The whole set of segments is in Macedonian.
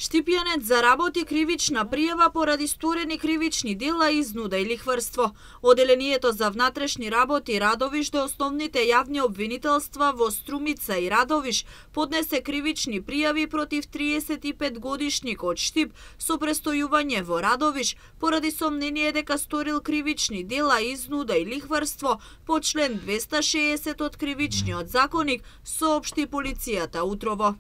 Штипјанец заработи кривична пријава поради сторени кривични дела, изнуда и лихварство. Оделението за внатрешни работи Радовиш до основните јавни обвинителства во Струмица и Радовиш поднесе кривични пријави против 35 годишник од Штип со престојување во Радовиш поради сомнение дека сторил кривични дела, изнуда и лихварство по член 260 од Кривичниот законник, соопшти полицијата утрово.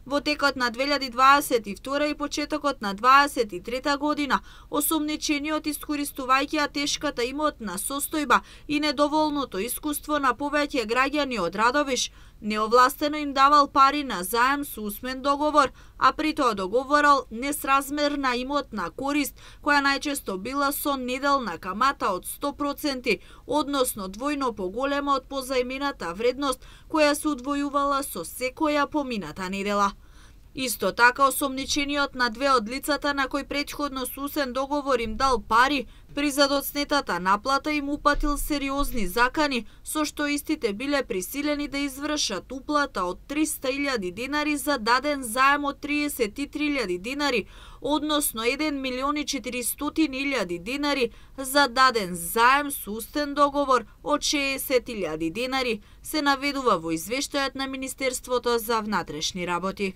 Во текот на 2022 и почетокот на 2023 година, осомничениот искористувајќи тешката имотна состојба и недоволното искуство на повеќе граѓани од Радовиш, неовластено им давал пари на заем со усмен договор, а при тоа договорал несразмерна имотна корист, која најчесто била со неделна камата од 100%, односно двојно поголема од позајмената вредност, која се удвојувала со секоја помината недела. Исто така, осомничениот на две од лицата на кои претходно со усен договор им дал пари, при задоцнетата наплата им упатил сериозни закани, со што истите биле присилени да извршат уплата од 300.000 динари за даден заем од 33.000 динари, односно 1.400.000 динари за даден заем со устен договор од 60.000 динари, се наведува во извештајот на Министерството за внатрешни работи.